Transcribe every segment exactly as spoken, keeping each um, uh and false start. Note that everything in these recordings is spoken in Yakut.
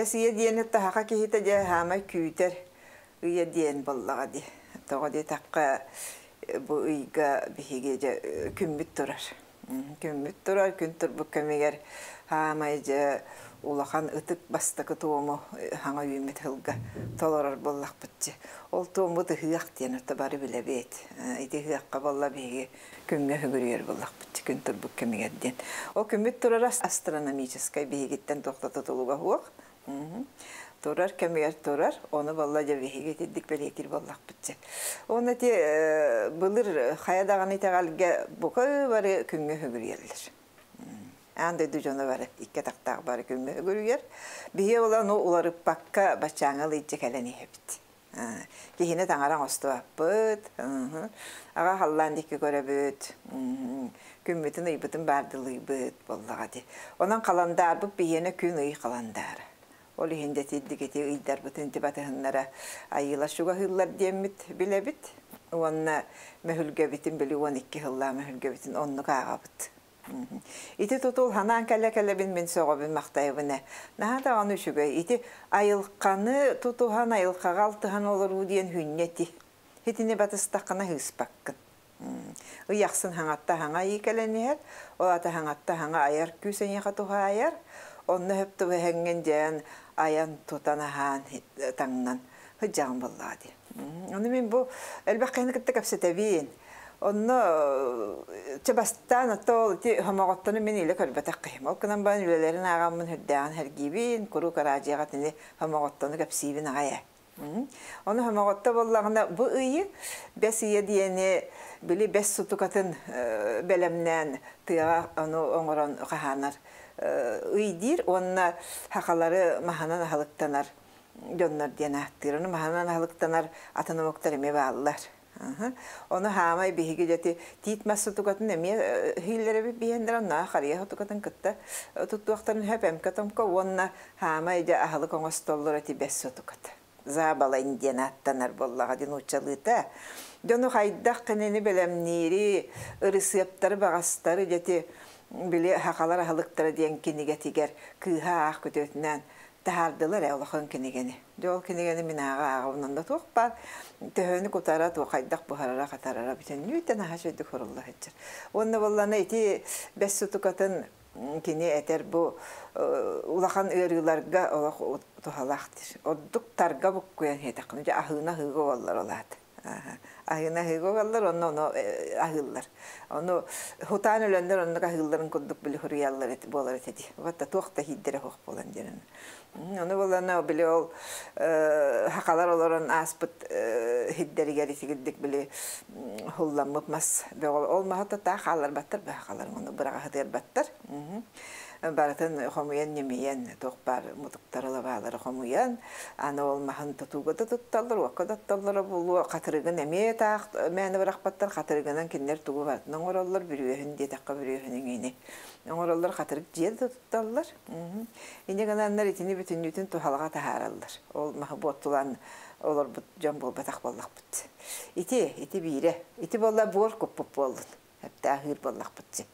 Бэс ыйа диэни таһаха киһитэ дьэ хаамай күүтэр ыйа диэн буоллаҕа дии. Тоҕо диэтэххэ, бу ыйга биһиги дьэ күммүт турар. Күммүт турар, күн турбут кэмигэр хаамай дьэ улахан ытык бастакы туому хаҥа үүммүт сылга толорор буоллахпыт дии. Ол туоммут ыһыах диэн ото бары билэбит. Ити ыһыахха буолла биһиги күҥҥэ үгүрүйэр буоллахпыт дии, күн турбут кэмигэр диэн. Ол күммүт турара астрономическай биһигиттэн туох да тутулуга суох. Турар кэмигэр турар, ону буолла дьэ биһиги итирдик бэлиэтиир буоллахпыт дии. Уонна ити былыр хайа даҕаны итэҕэлгэ бука бары күҥҥэ үгүрүйэллэр. Аан дойду дьоно бары икки атахтаах бары күҥҥэ үгүрүйэр. Биһиги ол ону уларыппакка баччааҥҥа ылыйдьа кэлэн иһэбит. Киһини таҥара оҥостубаппыт, аҕа халлаан диэки көрөбүт, күммүтүн ыйбытын баардылыйбыт буоллаҕа дии. Онон халандаарбыт биһиэнэ күн ый халандаара. Ол иһин дьэ итирдик ити ыйдарбытын ити батыһыннара айыылар чугаһыыллар диэммит билэбит. Уонна мөһүлгэбитин били уон икки сыллаах мөһүлгэбитин оннук ааҕабыт. Ити тутул ханаан кэлэ-кэлэбин мин сөҕөбүн махтайабын ээ. Наһаа даҕаны үчүгэй. Ити айылҕаны тутуһан, айылҕаҕа алтыһан олоруу диэн хүнньэ ити. Итини батыстаххына ыыспаккын. Ый ахсын хаҥатта хаҥа ый кэлэн иһэр, ол аата хаҥатта хаҥа айар күүс эйиэхэ туһаайар. Онно сөп түбэһэҥҥин дьээн айан тутан аһаан таҥнан сылдьаҕын буоллаҕа дии. Ону мин бу элбэх киһини кытта кэпсэтэбин. Онно чэ бастаан ото ол ити хомоҕоттону мин илэ көрбөтөх киһим. Ол гынан баран үлэлэрин ааҕаммын үрдээҕин сэргиибин, куруук араадьыйаҕа итини хомоҕоттону кэпсиибин аҕай ээ. Ону хомоҕотто буоллаҕына бу ыйы бэс ыйа диэни били бэс сутукатын бэлэмнээн тыаҕа ону оҥорон хаһаанар ый диир уонна сахалары маһынан аһылыктанар дьоннор диэн ааттыыр. Ону маһынан аһылыктанар атын омуктар эмиэ бааллар. Ону хаамай биһиги дьэти тиит мас сутукатын эмиэ иһиллэрэбит биһиэннэр онно харыйа сутукатын кытта туттуохтарын сөп эмкэ-томко уонна хаамай дьэ аһылык оҥостоллор эти бэс сутуката. Забалайн диэн ааттанар буоллаҕа дии нууччалыыта. Дьону хайдах кинини бэлэмниири, ырысыаптары баҕастары дьэти били сахалар аһылыктара диэн кинигэтигэр кыыһа аах күтүөтүнээн таһаардылар ээ улахан кинигэни. Дьэ ол кинигэни мин ааҕа ааҕабын онно туох баар төһөнү кутара, туох хайдах буһарара, хатарара бүтүннүүтэн аһа үчүгэйдик сурулла сылдьар. Уонна буоллаҕына ити бэс сутукатын кини этэр бу улахан ыарыыларга олох туһалаах диир. Ордук тарга буккуйан иһиэтэххинэ дьэ аһыына аһыыга уоллар ол аата. Аһыына аһыыга угаллар, онно ону аһыыллар. Ону хутаан өлөннөр оннук аһыылларын курдук били суруйаллар буолар этэ дии. Вот туох да иһиирдэрэ суох буолан диэн. Ону буоллаҕына били ол сахалар олорон ааспыт иһирдэригэр итигирдик били хулламмыт мас бөҕө ол маһы таах хаалларбаттар сахалар ону быраҕа сытыарбаттар. Барытын хомуйан ньимийэн туох баар мутуктары лабаалары хомуйан аны ол маһын тутууга да тутталлар, уокка да тутталлара буолуо, хатырыгын эмиэ таах мээнэ бырахпаттар, хатырыгынан кинилэр тугу барытын оҥороллор, бүрүөһүн диэтэххэ бүрүөһүн иҥини оҥороллор, хатырык дьиэ да тутталлар. Инньэ гынаннар итини бүтүннүүтүн туһалаҕа таһаараллар. Ол маһы буоттулаан олорбут дьон буолбатах буоллахпыт. Ити, ити биирэ. Ити буолла буор куппут буоллун. Эптээхиир буоллахпыт.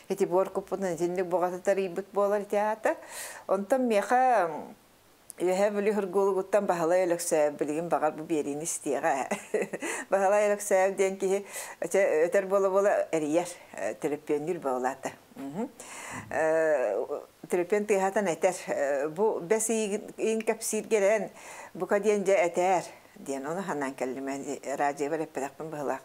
Ити буор куппутун итинник буҕата тарыйбыт буолар ити аата. Онтон миэхэ Үөһээ Бүлүү Хыргуулугуттан Баһылай Өлөксөөп билигин баҕар бу биэриини истиэҕэ. Баһылай Өлөксөөп диэн киһи өтөр буола-буола эрийэр, төлөпүөннүүр буолаата. Төлөпүөн тыаһатан этэр, бу бэс ыйын кэпсииргэрэн бука диэн дьэ этээр диэн ону ханаан кэллим радиобар эппэтэхпин быһылаах.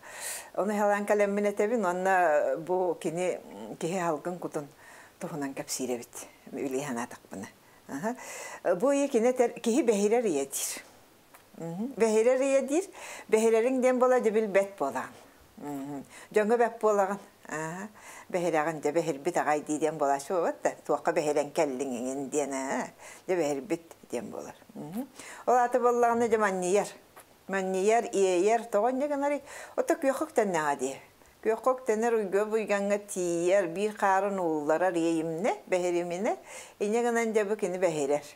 Ону халаан кэлэммин этэбин уонна бу кини киһи халгын кутун туһунан кэпсиир эбит билии санаатахпына. Бу ыйы кини этэр киһи бэһирэр ыйа диир. Бэһирэр ыйа диир. Бэһирэриҥ диэн буола дьэ билбэт буолаҕын. Дьоҥҥо бэт буолаҕын. Бэһирэҕин дьэ бэһирбит аҕай дии диэн буолааччы буолбат да туохха бэһирэн кэллиҥ иҥин диэн дьэ бэһирбит диэн буолар. Ол аата буоллаҕына дьэ манньыйар. Манньыйар, иэйэр, тоҕо инньэ гынарый? Ото күөххэ үктэннэҕэ дии. Күөххэ үктэнэр уйга буйгаҥҥа тиийэр, биир хаарын уулларар иэйимнэ, бэһириминэ, инньэ гынан дьэ бу кини бэһирэр.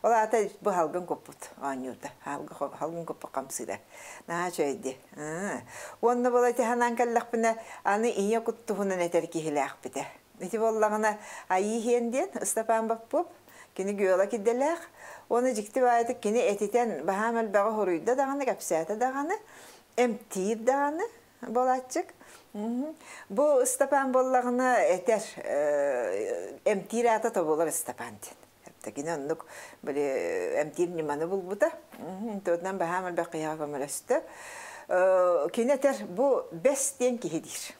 Ол аата бу халгын куппут оонньуурда. Халгын куппут хамсыыра. Наһаа үчүгэй дии. Уонна буола ити санаан кэллэхпинэ, аны ийэ кут туһунан этэр киһилээхпитэ. Ити буоллаҕына Айыы Иһиэн диэн Ыстапаан Боппуоп Кини геолог идэлээх. Оны дьикти баайытык кини этитэн баһаам элбэҕи хоруйда даҕаны, кэпсээтэ даҕаны, эмтиир даҕаны буолааччык. Бу Ыстапаан буоллаҕына этэр, эмтиир аата тобулар Ыстапаан диэн. Кини оннук били эмтиир ньыманы булбута. Туотунан баһаам элбэх киһиэхэ көмөлөстө. Кини этэр бу бэс диэн киһи диир.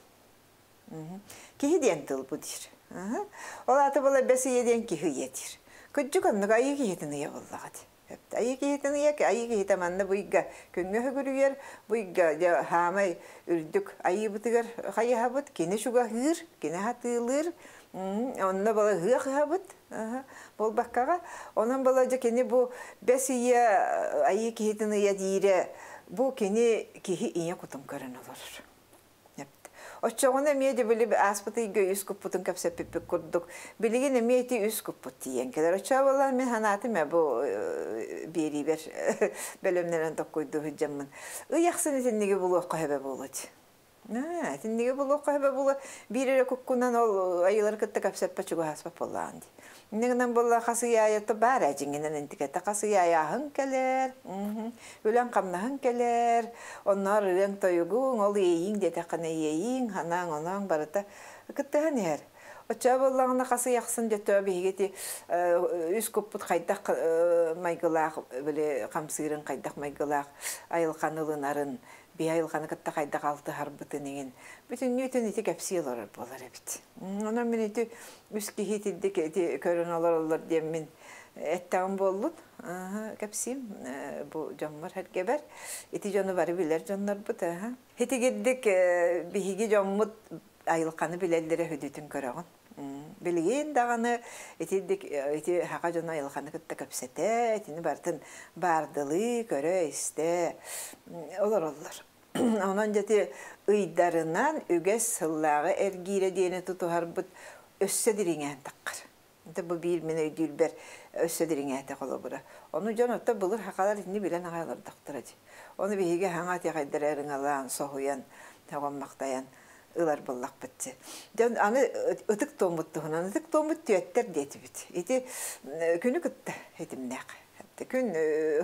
Киһи диэн тыл бу диир. Ол аата була бэс ыйа диэн киһи ыйа диир. Кырдьык оннук айыы киһитин ыйа буоллаҕа дии. Айыы киһитин ыйа, айыы киһитэ манна бу ыйга күҥҥэ үгүрүйэр, бу ыйга дьэ хаамай үрдүк айыыбытыгар хайыһабыт, кини чугаһыыр, кини хатыылыыр, онно була ыһыах ыһабыт буолбаккаҕа. Онон була дьэ кини бу бэс ыйа айыы киһитин ыйа диирэ, бу кини киһи ийэ кутун көрөн олорор. Оччоҕуна эмиэ дьэ били ааспыт ыйга үс куппутун кэпсэппиппит курдук, билигин эмиэ ити үс куппут тиийэн кэлэр. Оччоҕо буоллар мин санаатым ээ бу биэриибэр бэлэмнэнэн токкуйдуу сылдьаммын. Ый ахсын итинниги булуохха сөбө буолуо дии. Аа, итинниги булуохха сөбө буолуо. Биир эрэ куккунан ол айылары кытта кэпсэппэ чугаһаспат буоллаҕын дии. Инньэ гынан буолла хас ый аайы баар ээ дьиҥинэн интикэтэ хас ый аайы аһыҥ кэлэр, үлэҥ-хамнаһыҥ кэлэр, онноор ырыаҥ тойугуҥ, ол иэйииҥ диэтэххинэ иэйииҥ, санааҥ, онооҥ барыта кыттыһан иһэр. Оччоҕо буоллаҕына хас ый ахсын дьэ биһиги ити үс куппут хайдах майгылаах, били хамсыырын хайдах майгылаах айылҕаны ылынарын, биһи айылҕаны кытта хайдах алтыһарбытын иҥин бүтүннүүтүн ити кэпсии олорор буолар эбит. Онон мин ити үс киһи итирдик ити көрөн олороллор диэн мин эттэҕим буоллун кэпсиим бу дьоммор эргэбэр. Ити дьону бары билэр дьоннорбут. Итигирдик биһиги дьоммут айылҕаны билэллэрэ хүдүтүн көрөҕүн. Билигин даҕаны итирдик ити хака дьону айылҕаны кытта кэпсэтэ, итини барытын баардылыы, көрө, истэ олороллор. Онон дьэти ыйдарынан үгэс сыллааҕы эргиирэ диэни тутуһарбыт өссө дириҥээн таххар. Это бу биир мин өйдүүрбэр өссө дириҥээтэ холобура. Ону дьон отто былыр хакалар итини билэн аҕай олордохторо дии. Ону биһиги хаҥа тиэхэйдэрэ ырыҥалаан, соһуйан, тоҕоммахтайан ылар буоллахпыт. Дьон аны ытык туоммут туһунан, ытык туоммут түөттэр диэтибит. Ити күнү кытта этимнээх. Күн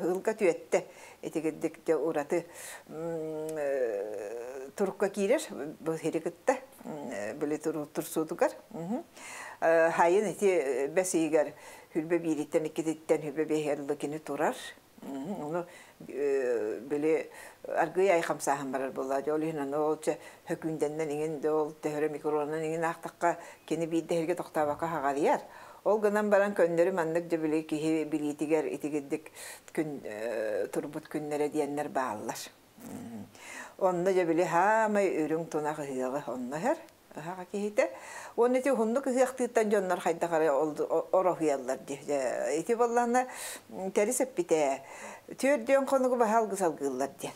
ылга түөттэ итигирдик дьэ ураты турукка киирэр бу хири кытта били турсуутугар. Хайын ити бэс ыйыгар хүлбэ биириттэн иккититтэн хүлбэ биэһэр кини турар. Ону били аргый ай хамсааһын барар буолла. Ол иһин аны ол чэ хөкүндэннэн иҥин де ол төһөрө микронан иҥин аахтахха кини биирдэ иһиргэ тохтообокко хаҕарыйар. Ол гынан баран көннөрү маннык дьэ били киһи билиитигэр итигирдик күн турбут күннэрэ диэннэр бааллар. Онно дьэ били хаамай үрүҥ тунах ыһыаҕы онно иһэр. Ыһаҕа киһитэ. Уонна ити уһуннук ыһыахтыыттан дьоннор хайдах эрэ ороһуйаллар дии. Ити буоллаҕына тэрис эппитэ. Түөрдүөн хонугу баһа алгыс алгыыллар диэн.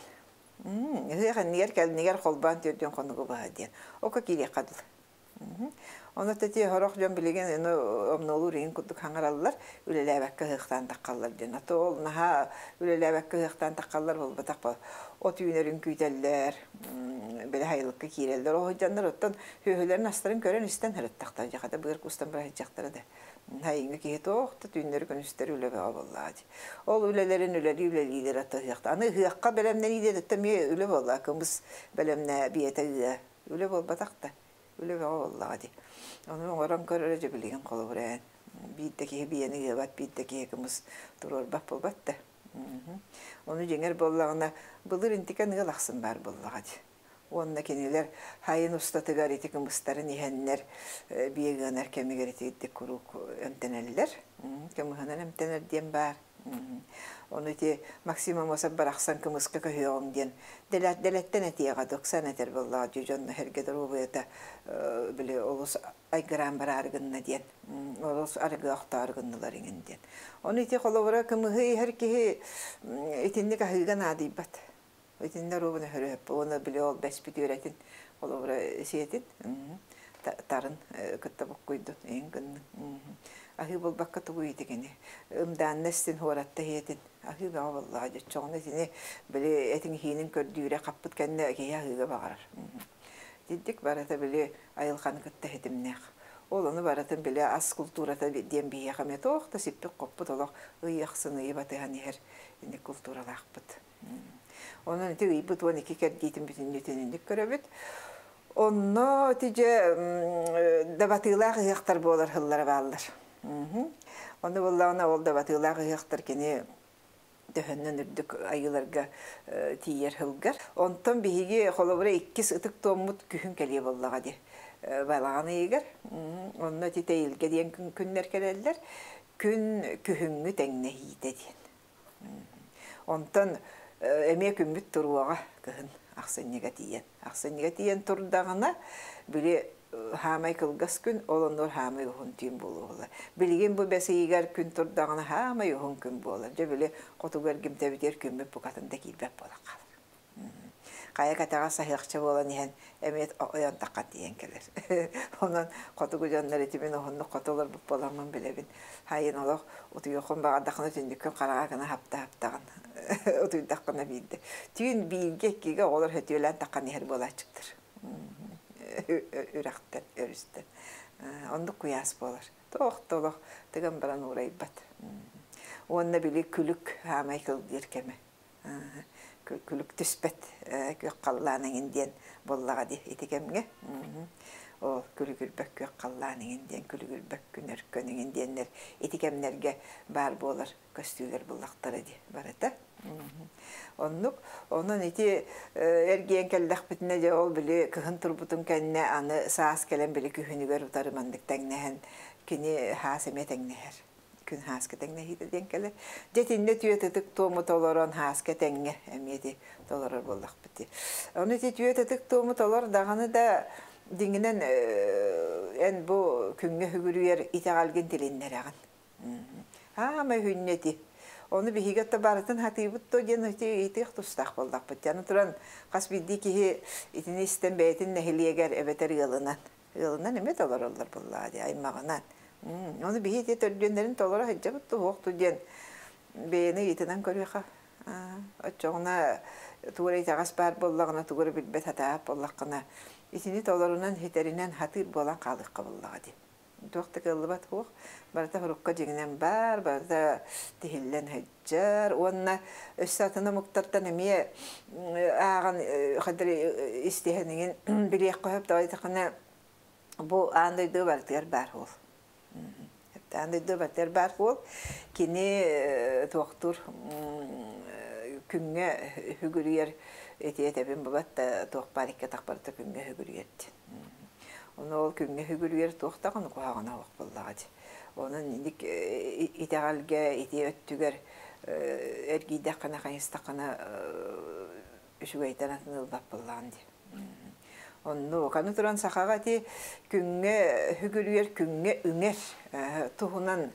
Ыһыах иннигэр кэлнигэр холбоон түөрдүөн хонугу баһа диэн. Око киириэххэ дылы. Онно тэти хорох дьон билигин эну омнолуур иһин курдук хаҥараллар, үлэлээбэккэ ыһыахтаан таххаллар диэн. Ато ол наһаа үлэлээбэккэ ыһыахтаан таххаллар буолбатах ба. От үүнэрин күүтэллэр, били хайылыкка киирэллэр. Ол дьоннор оттон сүөһүлэрин астарын көрөн истэн ырыттахтар. Дьахата быар кустан быраһыдьахтара да. Хайыҥҥа киһи туох да түүннэри күнүстэри үлэ бөҕө буоллаҕа дии. Ол үлэлэрин үлэлии үлэлиилэр ата ыһыахта. Аны ыһыахха бэлэмнэниилэр өттө эмиэ үлэ буолла. Кымыс бэлэмнээ биэтэ ыа. Үлэ буолбатах да. Үлэ бөҕө буоллаҕа дии. Ону оҥорон көрөрө дьэ билигин холобур ээн. Биир да киһи биэни ыабат, биир да киһи кымыс туруорбат буолбат да. Ону дьиҥэр буоллаҕына былыр интикэн ыал ахсын баар буоллаҕа дии. Уонна кинилэр хайын устатыгар ити кымыстарын иһэннэр биэ ыанар кэмигэр итирдик куруук эмтэнэллэр. Кымыһынан эмтэнэр диэн баар. Ону ити Максим Амосов барахсан кымыска көһүөҕүҥ диэн дэлэттэн этиэҕэ доксан этэр буоллаҕа дии дьонно эргэ доруобуйата били олус айгыраан бараары гынна диэн олус арыгы охтоору гыннылар иҥин диэн. Ону ити холобура кымыһы иһэр киһи итинник аһыыга наадыйбат. Итиннэ доруобуна хөрөһөп уонна били ол бэспит үөрэтин холобура сиэтин тарын кытта буккуйдун иҥ гыннын. Аһыы буолбакка тугу итигини ымдаанна истин хуоратта иһиэтин аһыы бөҕө буоллаҕа дьоччоҕуна итини били этиҥ иһиинин көрдүүрэ хаппыт кэннэ киһи аһыыга баҕарар. Диддик барыта били айылҕаны кытта иһитимнээх. Ол ону барытын билэ ас култуурата диэн биһиэхэ эмиэ туох да сиппит-хоппут олох ый ахсын ыйы батыһан иһэр инник култууралаахпыт. Онон ити ыйбыт уон икки кэрдиитин бүтүннүүтүн инник көрөбүт. Онно ити дьэ дабатыылаах ыһыахтар буолар сыллара бааллар. Онно буоллаҕына ол дабатыылаах ыһыахтар кини төһөннөн үрдүк айыыларга тиийэр сылгар. Онтон биһиги холобура иккис ытык туоммут күһүн кэлиэ буоллаҕа дии. Балаҕан ыйыгар. Онно ити тэйилгэ диэн күннэр кэлэллэр. Күн күһүҥҥү тэҥнэһиитэ диэн. Онтон эмиэ күммүт туруоҕа кыһын ахсынньыга тиийэн. Ахсынньыга тиийэн турдаҕына, били хаамай кылгас күн, ол оннугар хаамай уһун түүн буолуоҕула. Билигин бу бэс ыйыгар күн турдаҕына хаамай уһун күн буолар. Дьэ били хотугу эргимтэбитигэр күммүт букатын да киирбэт буолан хаалар. Хайа кэтэҕэ саһыахча буолан иһэн эмиэ ойон таххан тиийэн кэлэр. Онон хотугу дьоннор итимин уһуннук хоту олорбут буоламмын билэбин. Хайын олох утуйуоххун баҕардаххына түннүккүн хараҕа гына хапта-хаптаҕын. Утуйдаххына биирдэ. Түүн бииргэ иккигэ оҕолор хөтүөлээн таххан иһэр буолааччыктар. Үрэхтэн, өрүстэн. Оннук куйаас буолар. Туох да олох тыган баран уурайбат. Уонна били күлүк хаамай кылгыыр кэмэ. Күлүк түспэт күөх халлаан эҥин диэн буоллаҕа дии ити кэмҥэ. Ол күлүгүрбэт күөх халлаан эҥин диэн, күлүгүрбэт күн өркөн эҥин диэннэр ити кэмнэргэ баар буолар көстүүлэр буллахтара дии барыта. Оннук. Онон ити эргийэн кэллэхпитинэ дьэ ол били кыһын турбутун кэннэ аны саас кэлэн били күһүнүгэр утары маннык тэҥнэһэн кини хаас эмиэ тэҥнэһэр. Күн хааска тэҥнэһиитэ диэн кэлэр. Дьэ итиннэ түөт ытык туому толорон хааска тэҥҥэ эмиэ ити толорор буоллахпыт. Ону ити түөт ытык туому толор даҕаны да дьиҥинэн эн бу күҥҥэ үгүрүйэр итэҕэлгин тилиннэрэҕин. Аама үһүннэ ити. Ону биһиги отто барытын хатыыбыт то диэн ити ыйытыах тустаах буоллахпыт. Аны туран хас биирдии киһи итини истэн бэйэтин нэһилиэгэр эбэтэр ыалынан. Ыалынан эмиэ толороллор буоллаҕа дии, аймаҕынан. Ону биһи ити төрдүөннэрин толоро сылдьабыт туһуохту диэн бэйэни ыйытынан көрүөхэ. Оччоҕуна тугу эрэ итэҕэс баар буоллаҕына, тугу эрэ билбэт хатаабат буоллаххына, итини толорунан, ситэринэн хатыыр буолан хаалыахха буоллаҕа дии. Туох да кыаллыбат суох. Барыта сурукка дьиҥинэн баар, барыта тиһиллэн сылдьар. Уонна өссө атын омуктартан эмиэ ааҕан хадыр истиһэн иҥин билиэххэ сөп. Тоҕо бу аан дойду барытыгар баар уол. Аан дойду барытыгар баар уол. Кини туохтуур күҥҥэ үгүрүйэр ити этэбин бабат да туох баар икки атах барыта күҥҥэ үгүрүйэр диэн. Ону ол күҥҥэ үгүрүйэр туох даҕаны куһаҕана суох буоллаҕа дии. Онон инник итэҕэлгэ ити өттүгэр эргийдэххинэ хайыстаххына үчүгэйтэн атын ылбат буоллаҕын дии. Оннук. Аны туран сахаҕа ити күҥҥэ үгүрүйэр, күҥҥэ үҥэр туһунан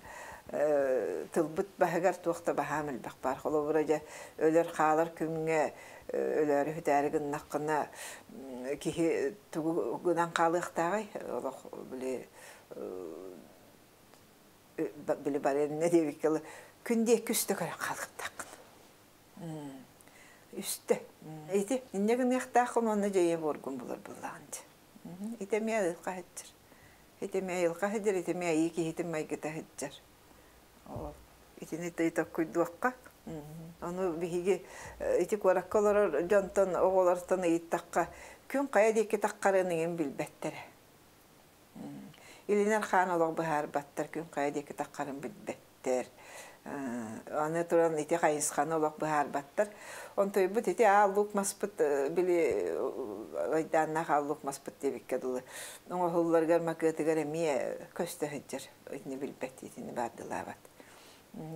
тылбыт баһыгар туох да баһаам элбэх баар. Холобура дьэ өлөр хаалар күҥҥэ өлөөрү бүтээри гыннаххына киһи тугу гынан хаалыахтааҕый? Олох били били барыанна диэбиккэ күн диэки үстэ көрөн хаалыахтааххын. Үстэ. Ити инньэ гыныахтааххын уонна дьэйэ буоргун булар буоллаҕын дии. Ити эмиэ айылҕа сылдьар. Ити эмиэ айылҕа сылдьар, ити эмиэ айыы киһитин майгыта сылдьар. Ол итини токкуйдуохха. Ону биһиги ити куоракка олорор дьонтон, оҕолортон ыйыттахха, күн хайа диэки таххарын иҥин билбэттэрэ. Илинэр хаан олох быһаарбаттар, күн хайа диэки таххарын билбэттэр. Аны туран ити хайысханы олох быһаарбаттар. Онтойбут ити аал-луук маспыт били айдааннаах аал-луук маспыт диэбиккэ дылы. Оҥоһулларыгар макыатыгар эмиэ көстө сылдьар. Итини билбэт, итини баардылаабат.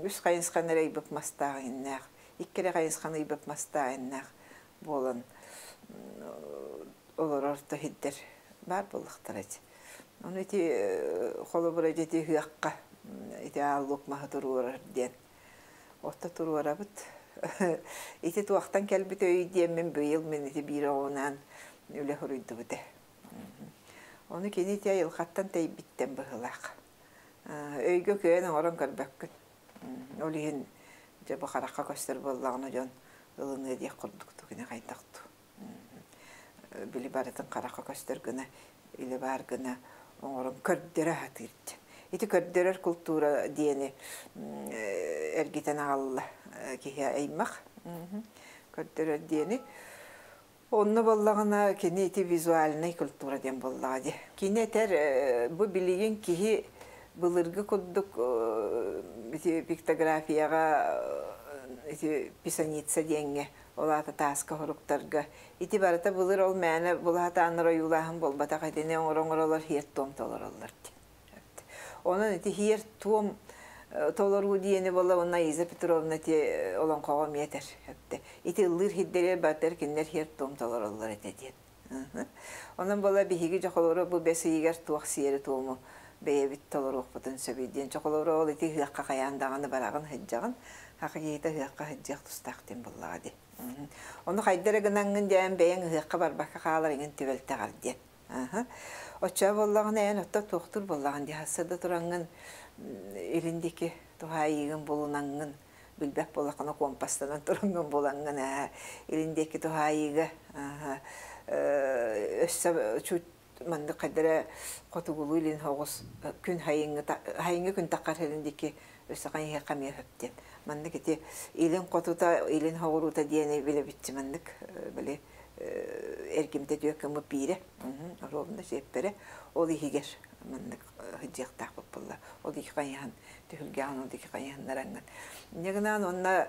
Үс хайысханы эрэ ыйбыт мастаах иннээх, икки эрэ хайысханы ыйбыт мастаах иннээх буолан олорор да сирдэр баар буоллахтара ити. Ону ити холобура ити ыһыахха ити аал-луук маһы туруорар диэн. Отто туруорабыт. Ити туохтан кэлбит өй диэммин быйыл мин ити биир оҕунаан үлэ хоруйдубут. Ону кини ити айылҕаттан тэйбиттэн быһыылаах. Өйгө кыайан оҥорон көрбөккүн. Ол иһин дьэ бу харахха көстөр буоллаҕына дьон ылыныа диэх курдук кини хайдах туу. Били барытын харахха көстөр гына, илэ баар гына Оҥорон көрдөрө сатыыр диэн. Ити көрдөрөр култуура диэни эргитэн аҕалла киһи аймах. Көрдөрөр диэни. Онно буоллаҕына кини ити визуальнай культура диэн буоллаҕа дии. Кини этэр бу билигин киһи былыргы курдук ити пиктографияҕа ити писаница диэҥҥэ ол аата тааска хоруктарга ити барыта былыр ол мээнэ булаһатааннар ойуулааһын буолбатах итини оҥоро-оҥоролор һиэр-туом толороллор диэн. Онон ити һиэр-туом толоруу диэни буолла уонна Иза Петровна ити олоҥхоҕо эмиэ этэр. Ити ыллыыр һирдэригэр барытыгар кинилэр һиэр-туом толороллор этэ диэн. Онон буолла биһиги дьохолоро бу бэс ыйыгар туох сиэри-туому бэйэбит толоруохпутун сөбүй диэн. Дьохолоро ол ити ыһыахха хайаан даҕаны бараҕын сылдьаҕын, саха киһитэ ыһыахха сылдьыах тустаах диэн буоллаҕа дии. Ону хайда эрэ гынаҥҥын диэн бэйэҥ ыһыахха барбакка хаалар иҥин түбэлтэҕэр диэн. Оччоҕо буоллаҕына эн отто туохтуур буоллаҕын дии сарсыарда тураҥҥын илин диэки туһаайыыгын булунаҥҥын билбэт буоллаххына компастанан тураҥҥын булаҥҥын ээ илин диэки туһаайыыга өссө чуть маннык хайда эрэ хотугулуу илин соҕус күн хайыҥҥы хайыҥҥы күн таххар илин диэки өссө хайыһыахха эмиэ сөп диэн маннык ити илин хотута илин соҕуруута диэни билэбитчи маннык били эргимтэ түөккэммыт биирэ ровно сиэппэрэ ол иһигэр маннык сылдьыахтаахпыт буолла ол ики хайыһан түһүлгэҕин ол ики хайыһыннараҥҥын инньэ гынан уонна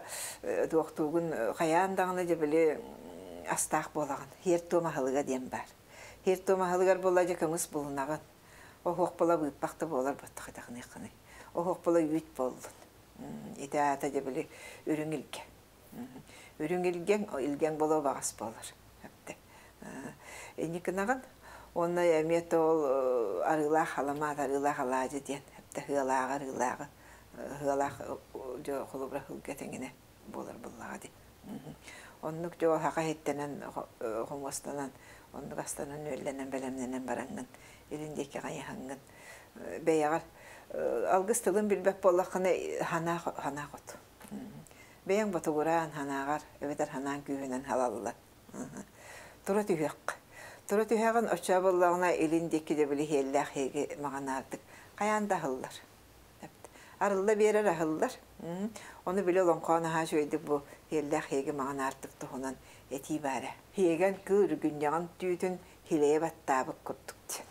туохтуугун хайаан даҕаны дьэ били астаах буолаҕын һиэр-туом аһылыга диэн баар һиэр-туом аһылыгар буолла дьэ кымыс булунаҕын оһуох буола быыппах да буолар баттах итэҕиниэххиний оһуох буола үүт буоллун ити аата дьэ били үрүҥ илгэ үрүҥ илгэҥ илгэҥ буолуо баҕас буолар инникинаҕын уонна эмиэ ол арыылаах халамаат арыылаах алаадьы диэн эптэ ыалааҕы арыылааҕы ыалаах дьэ холобура сылга тэҥинэ буолар буоллаҕа дии оннук дьэ саха иһиттэнэн хомуостанан оннук астанан үөллэнэн бэлэмнэнэн бараҥҥын илин диэки хайыһаҥҥын бэйэҕэр алгыс тылын билбэт буоллаххына санаа санаа хот бэйэҥ ботугураан санааҕар эбэтэр санааҥ күүһүнэн халаллан тура түһүөххэ тура түһэҕин оччоо буоллаҕына илин диэки да били иһиэллээх иһиги маҕанаардык хайаан да аһыллар арылла биэрэр аһыллар ону били олоҥхоон аһаа үчүгэйдик бу иһиэллээх иһиги маҕанаардык туһунан этии баара иһиэгэн кыыл үргүнньэҕин түүтүн хилэйэ баттаабыт курдук диэн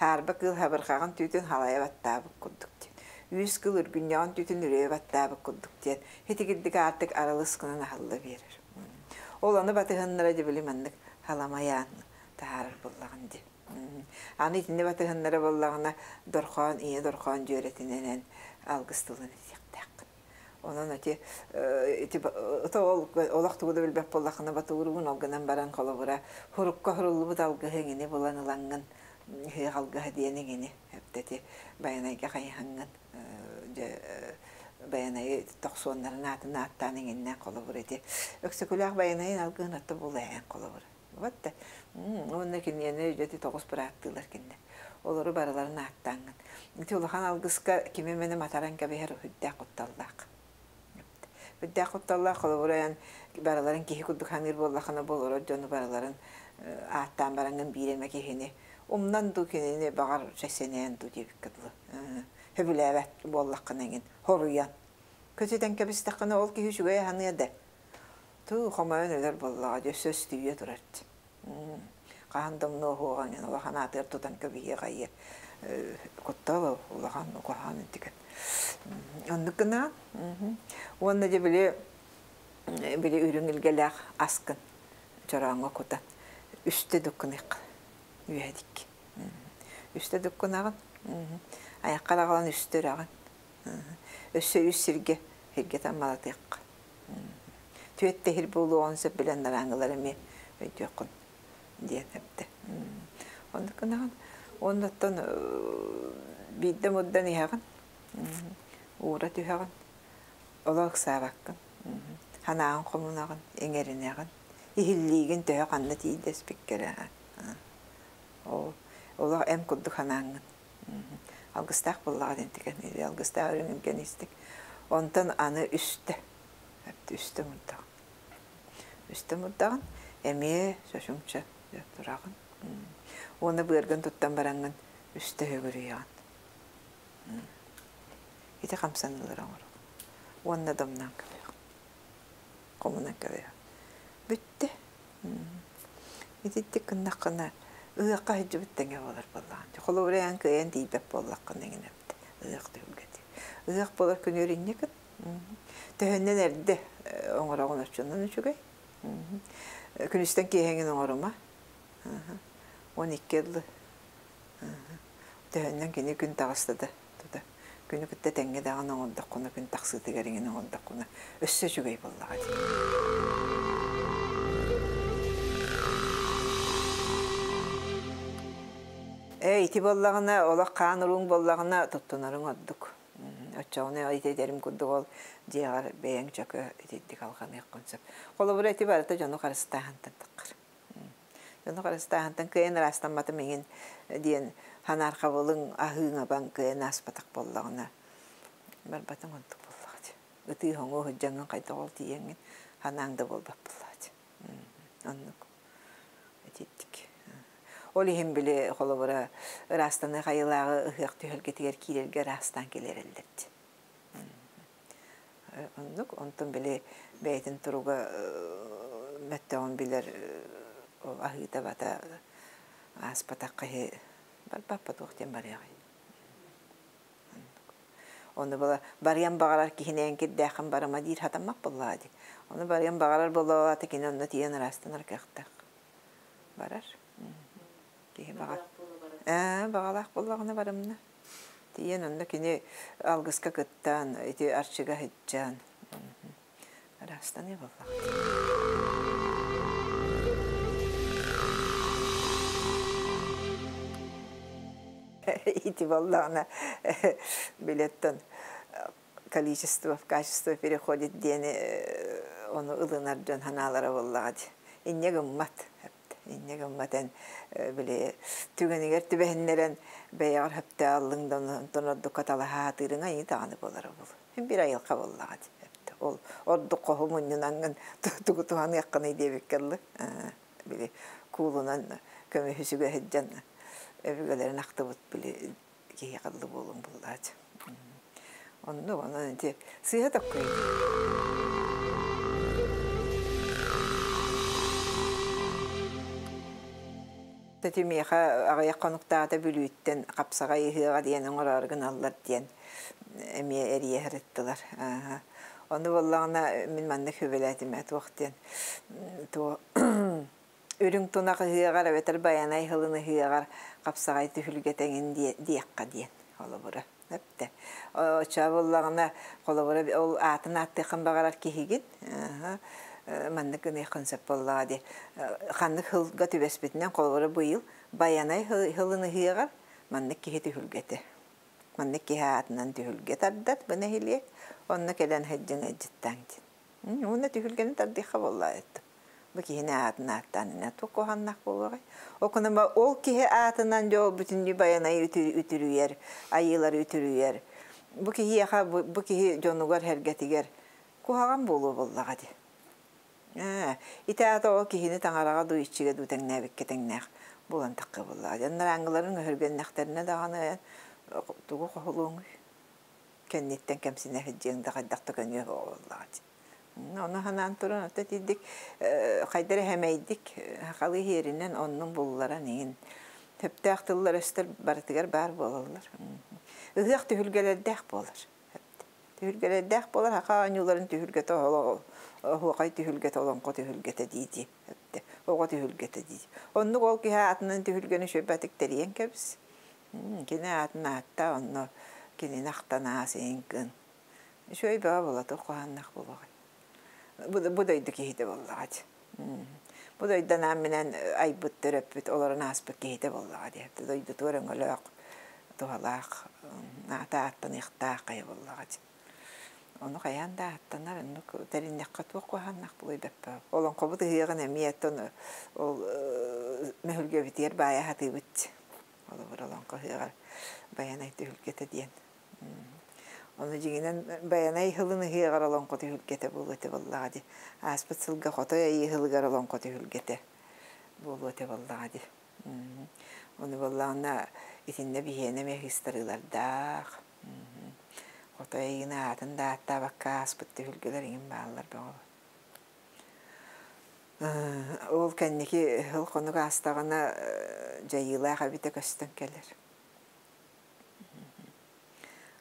хаарба кыыл хабырҕаҕын түүтүн халайа баттаабыт курдук диэн үүс кыыл үргүнньэҕин түүтүн үрүйэ баттаабыт курдук диэн итигирдик аартык аралыс гынан аһылла биэрэр ол ону батыһыннара дьэ били маннык халамайаан таһаарар буоллаҕын дии аны итинни батыһыннара буоллаҕына дорхоон ийэ дорхоон дьүөрэтинэн алгыс тылын этиэхтээххин онон ити ити ол олох тугу да билбэт буоллаххына батууругун ол гынан баран холобура хурукка хуруллубут алгыһы иҥини булан ылаҥҥын ыһыах алгыһа диэн иҥини эптэти Байанайга хайыһаҥҥын дьэ Байанайы тохсуоннарын аатын ааттаан иҥиннээн холобур ити Өксөкүлээх Байанайын алгыһын отто булаэн холобур вот да уонна киниэни дьэти тоҕус бырааттыылар кинилэр олору барыларын ааттааҥҥын ити улахан алгыска кими эмэни матаран кэбиһэр үрдээх кутталлаах үрдээх кутталлаах холобур эн барыларын киһи курдук саныыр буоллаххына бу олорор дьону барыларын ааттаан бараҥҥын биир эмэ киһини умнан дуу кинини баҕар сэнээн дуу диэбиккэ дылы сөбүлээбэт буоллаххына эҥин хоруйан көтүтэн кэбистэххинэ ол киһи үчүгэй аһаныа да туу хомойон өлөр буоллаҕа дьэ өссө өстүйүө турар хаһан да умнуоһуоҕа эҥин улахан аатыгар тутан кэбиһиэх айы куттал улахан куһаҕан интикен оннук гына уонна дьэ били били үрүҥ илгэлээх аскын чорооҥҥо кутан үстэ дуккуныахха үөһэдик үстэ дуккунаҕын айаххар аҕалан үстэ үрэҕин өссө үс сиргэ сиргэ таммалатыахха түөттэ иһир буолуоҕун сөп билэн нарааҥылар эмиэ өйдүөххүн диэн эптэ оннук гынаҕын уонна оттон биирдэ муддан иһэҕин уура түһэҕин олох ыксаабаккын санааҕын хомунаҕын иҥэринэҕин иһиллиигин төһө ханна тиийдэспиккэрэ ол олох эм курдук санааҥҥын алгыстаах буоллаҕа диэн алгыстаах үрүҥ илгэн истик онтон аны үстэ үстэ мурдаҕын үстэ мурдаҕын эмиэ чочумча тураҕын уонна быаргын туттан бараҥҥын Үстэ хөгүрүйэҕин. Ити хамсаныылары оҥоруҥ. Уонна домнаан кэбиһэҕин. Хомунан кэбиһэҕин. Бүттэ. Ититтик гыннаххына ыһыахха сылдьыбыт тэҥэ буолар буоллаҕын. Холобура эн кыайан тиийбэт буоллаххына эҥин эбит. Ыһыах түһүлгэтэ. Ыһыах буолар күнүөр инньэ гын. Төһөннөн эрдэ оҥороҕун оччонон үчүгэй. Күнүстэн киэһэҥин оҥорума. Он икки ыллы. Төһөннөн кини күн таҕыста да тута. Күнү кытта тэҥҥэ даҕаны оҥордоххуна, күн тахсыытыгар иҥин оҥордоххуна өссө үчүгэй буоллаҕа дии. Ээ, ити буоллаҕына, олох хаан урууҥ буоллаҕына туттунарыҥ ордук. Оччоҕуна ити этэрим курдук ол дьиэҕэр бэйэҥ чөкө итинник алҕаныаххын сөп. Холобура ити барыта дьону харыстааһынтан таххар. Дьону харыстааһынтан кыайан ыраастамматым иҥин диэн ханаархабылыҥ аһыыҥабаҥ кыайан ааспатах буоллаҕына барбатыҥ онтук буоллаҕа дии. Ытыы хоҥуу сылдьаҥҥын хайдах ол тиийэҥҥин ханаан да буолбат буоллаҕа дии. Оннук ититтик. Ол иһин били холобура ыраастаныы хайылааҕы ыһыах түһэлгэтигэр киирэргэ ыраастаан кэлэрэллэр дии. Оннук онтон били бэйэтин туруга мөттөҕүн билэр ол аһыыта бата ааспатах киһи барбаппа туох диэн барыаҕай. Ону була барыан баҕарар киһинээн кирдээххин барыма диир хатаммат буоллаҕа дии. Ону барыан баҕарар буоллаҕа кини онно тиийэн ырастанар кыахтаах. Барар. Киһи баҕар. Ээ, баҕалаах буоллаҕына барымна. Тиийэн онно кини алгыска кыттаан, ити арчыга сылдьан ырастаныы буоллаҕа. Ити буоллаҕына билеттен количество в качество переходит диэни ону ылынар дьон ханаалара буоллаҕа дии. Инньэ гыммат. Инньэ гыммат эн били түгэнигэр түбэһиннэрэн бэйэҕэр хөптөө аллыҥ да онтон ордукка талаһаатыырыҥ айыы даҕаны буолара буолуо. Бир айылҕа буоллаҕа дии. Ол ордук хоһу мунньунаңҥын тугу туһаныаххыный диэбиккэ дылы. Били куулунан көмүһү сүгэ сылдьан өбүгэлэрин ахтыбыт били киһи қаллы буолуҥ буоллаачы. Онну онон ити сыыһа токкуй. Тэтимиэхэ аҕыйах хонуктаата Бүлүүттэн хапсаҕай ыһыаҕа диэн оҥороору гыналлар диэн эмиэ эрийэ сырыттылар. Ону буоллаҕына мин маннык сүбэлээтим туох диэн туох үрүҥ тунах ыһыаҕар эбэтэр байанай сылын ыһыаҕар хапсаҕай түһүлгэ тэҥин диэххэ диэн холобура. Эптэ. Оччоҕо буоллаҕына холобура ол аатын ааттыаххын баҕарар киһигин маннык гыныаххын сөп буоллаҕа дии. Ханнык сылга түбэспитинэн холобура быйыл байанай сылын ыһыаҕар маннык киһи түһүлгэтэ. Маннык киһи аатынан түһүлгэ тардар бу нэһилиэк. Онно кэлэн сылдьыҥ ыдьыттаҥ диэн. Уонна түһүлгэни тардыахха буоллаҕа этэ. Бу киһини аатын ааттаан ина туох куһаҕаннаах буолуоҕай. Окунама ол киһи аатынан дьол бүтүннүү байанай үтүрүйэр, айыылары үтүрүйэр. Бу киһиэхэ бу киһи дьонугар хэргэтигэр куһаҕан буолуо буоллаҕа дии. Ээ, ити аата ол киһини таҥараҕа дуу иччигэ дуу тэҥнээбиккэ тэҥнээх буолан тахха буоллаҕа. Дьоннор ааҥгыларын өһүргэннэхтэринэ даҕаны тугу хоһулуоҥуй? Кэнниттэн кэмсинэ сылдьыаҥ да хайдах да көнүө суоҕа буоллаҕа дии. Ону ханаан туран ото тиийдик хайдара хэмэйдик хахалы иһиэринэн оннун булларан иҥин төптөөх тыллар өстөр барытыгар баар буолаллар. Ыһыах түһүлгэлэрдээх буолар. Түһүлгэлэрдээх буолар хаха оонньууларын түһүлгэтэ оһуохай түһүлгэтэ олоҥхо түһүлгэтэ дии оҕо түһүлгэтэ дии. Оннук ол киһи аатынан түһүлгэни шөббатык тэрийэн кэбис. Кини аатын аатта онно кинини ахтан аас иҥкын. Үчүгэй бөҕө буола туох куһааннаах буолуоҕай. Бу дойду киһитэ буоллаҕа дии. Бу дойду минэн айбыт төрөппүт олорон ааспыт киһитэ буоллаҕа дии. Дойдутугар өҥөлөөх туһалаах аата ааттаныахтаах хайа буоллаҕа дии. Ону хайаан да ааттанар оннук тэриннэххэ туох куһааннаах буолуой бэппэ. Олоҥхобут ыһыаҕын эмиэ оттон ол мөһүлгэбитигэр баайа хатыыбыт. Олобур олоҥхо ыһыаҕар байанай түһүлгэтэ диэн. Ону дьиҥинэн байанай сылын ыһыаҕар олоҥхо түһүлгэтэ буолуо этэ буоллаҕа дии. Ааспыт сылга хотой айыы сылыгар олоҥхо түһүлгэтэ буолуо этэ буоллаҕа дии. Ону буоллаҕына Итиннэ биһиэнэ эмиэ ыыстарыылардаах. Хотой эйигин аатын да ааттаабакка ааспыт түһүлгэлэр иҥин бааллар бөҕө. Ол кэнники сыл хонук аастаҕына дьайыылаах эбитэ көстөн кэлэр.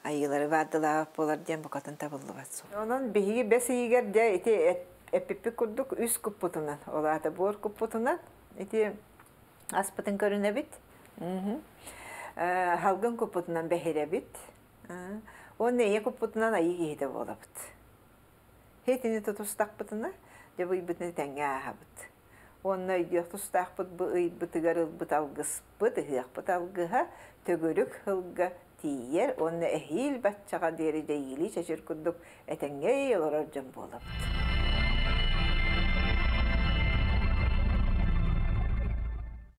Айыылары баардылаабат буолар диэн букатын табыллыбат суол. Онон биһиги бэс ыйыгар дьэ ити эппиппит курдук үс куппутунан, ол аата буор куппутунан ити аспытын көрүнэбит. Халгын куппутунан бэһирэбит. Уонна ийэ куппутунан айыы киһитэ буолабыт. Хитини тутустахпытына, дьэ бу ыйбытын тэҥҥэ ааһабыт. Уонна өйдүөх тустаахпыт бу ыйбытыгар ылбыт алгыспыт, ыһыахпыт алгыһа төгүрүк сылга тиийэр уонна эһиил баччаҕа диэри дьэйиилии чэчир курдук этэҥҥэ олорор дьон буолабыт.